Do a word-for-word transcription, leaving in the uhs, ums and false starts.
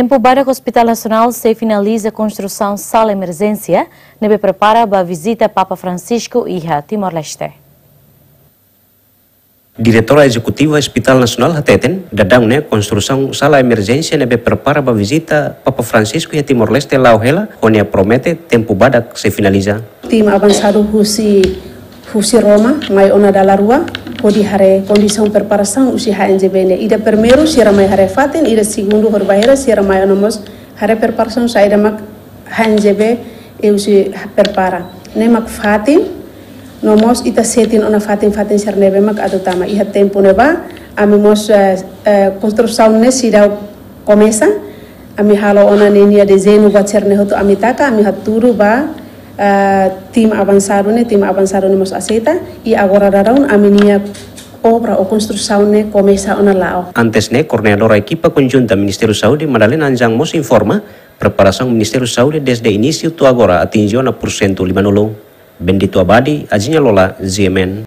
Tempu badak Hospital Nasionál sei finaliza konstrusaun sala emerjénsia ne'ebé prepara ba vizita Papa Francisco iha Timor-Leste. Diretora Ezekutiva Hospital Nasionál hateten, daudaun ne'e konstrusaun sala emerjénsia ne'ebé prepara ba vizita Papa Francisco iha Timor-Leste la'o hela, ho nia promete tempu badak sei finaliza. Tim avansadu husi, husi Roma mai ona dala rua, hodi haree kondisaun preparasaun husi H N J B ne'e. Ida primeiru sira mai haree fatin, ida segundu hodi bainhira sira mai ona mós haree preparasaun saida mak H N J B husi prepara. Ne'e mak fatin, no mós ita setin ona fatin-fatin sira ne'ebé mak atu tama. Iha tempu ne'ebá, ami mós, eh, eh, konstrusaun ne'e seidauk komesa, ami halo ona ninia dezeñu buat sira-ne'e hotu ami taka, ami hatudu ba, eh, tim avansadu ne'e, tim avansadu ne'e mós aseita, i agora daudaun ami-nia obra ou konstrusaun ne'e komesa ona la'o. Antes ne'e, koordenadora ekipa konjunta Ministériu Saúde, Madalena Anjang mós informa, preparasaun Ministériu Saúde dezde inísiu to'o agora atinje ona pursentu limanulu. Bendito Abadi, Azinha Lola, G M N.